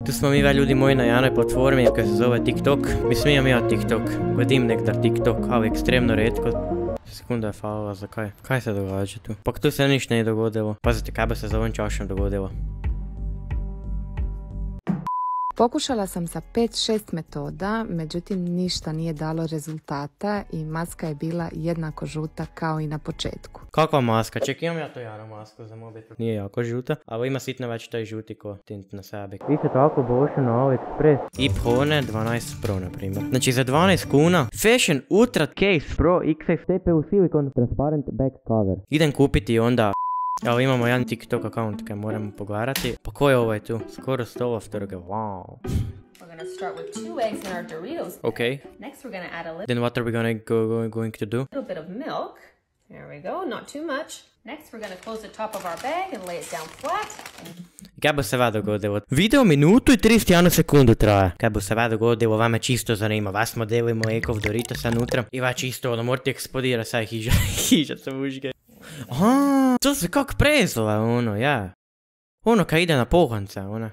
Tu smo mi ljudi moji na jednoj platformi koja se zove TikTok. Mislim imam ja TikTok, godim nekdar TikTok, ali ekstremno redko. Sekunda je falila, zakaj? Kaj se događa tu? Pa tu se ništa nije dogodilo. Pazite, kaj bi se za ovom čašom dogodilo? Pokušala sam sa 5-6 metoda, međutim ništa nije dalo rezultata i maska je bila jednako žuta kao i na početku. Kakva maska? Ček, imam ja to jednu masku za mobitel. Nije jako žuta, ali ima sitno već taj žuti ko tint na sebi. Vi se tako bošu na AliExpress. I Hone 12 Pro, na primjer. Znači za 12 kuna Fashion Ultra Case Pro XF TPU Silicon Transparent Back Cover. Idem kupiti onda. Ali imamo jedan TikTok account kaj moramo pogledati. Pa ko je ovaj tu? Skoro 100 afterga, wow. We're gonna start with 2 eggs in our Doritos. Okay. Next we're gonna add a Then what are we going to do? little bit of milk. There we go, not too much. Next we're gonna close the top of our bag and lay it down flat. Kaj bo se va dogodilo? Video minutu i 31 sekundu traje. Kaj bo se va dogodilo, vama čisto zanima. Vas modelimo ekov Doritosa nutra. I va čisto, ono, morate eksplodira sad hiža se mužge. Aha, to se kak prezove, ono, ja. Ono kaj ide na pohanca, ona.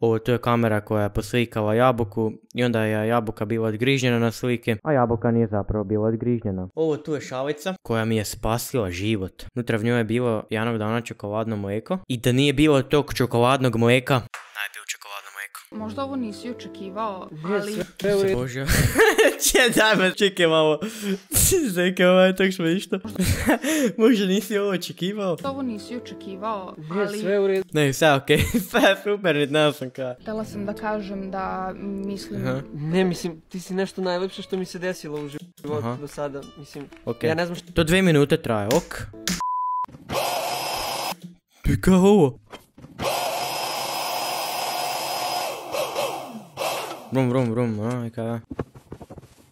Ovo, to je kamera koja je poslikala jabuku i onda je jabuka bila odgrižnjena na slike, a jabuka nije zapravo bila odgrižnjena. Ovo tu je šalica koja mi je spasila život. Nutra v njoj je bilo jednog dana čokoladno mlijeko i da nije bilo tog čokoladnog mlijeka, ne bi čokoladno mlijeko. Možda ovo nisi očekivao, ali... Se bože. Daj me, čekaj malo. Zekaj, ovo je tak šmišno. Možda nisi ovo očekivao. Ovo nisi očekivao, ali... Sve u redu. Ne, sve okej. Sve super, ne sam kaj. Htjela sam da kažem da mislim... Ne, mislim, ti si nešto najlepše što mi se desilo u životu do sada. Mislim, ja ne znam što... To 2 minute traje, ok. Ti kao ovo? Vrum, aj kada.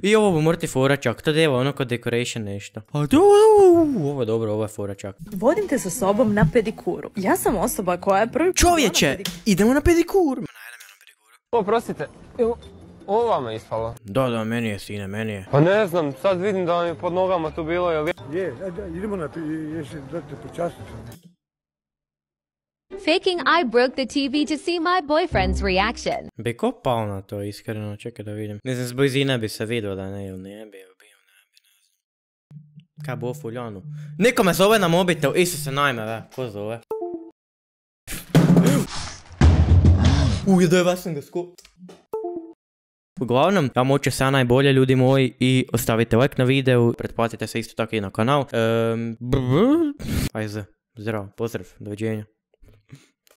I ovo morate foračak, to deva ono kod decoration nešto. A to, ovo je dobro, ovo je foračak. Vodim te sa sobom na pedikuru. Ja sam osoba koja je prvi... Čovječe, idemo na pedikur. Oprostite, ovo vama je ispalo? Da, meni je sine, meni je. Pa ne znam, sad vidim da mi je pod nogama tu bilo, jel... Je, idemo na jesi da te počastim. Faking I broke the TV to see my boyfriend's reaction. Bi ko pao na to, iskreno, čekaj da vidim. Ne znam, s blizine bi se vidio da ne, ili ne bi. Kaj bo fuljanu? Niko me zove na mobitel, Isuse najme, ve, ko zove? Jedoj, sam ga Uglavnom, ja moću sve najbolje ljudi moji i ostavite like na videu, pretplatite se isto tako i na kanal. Ajde, zdravo, pozdrav, doviđenja.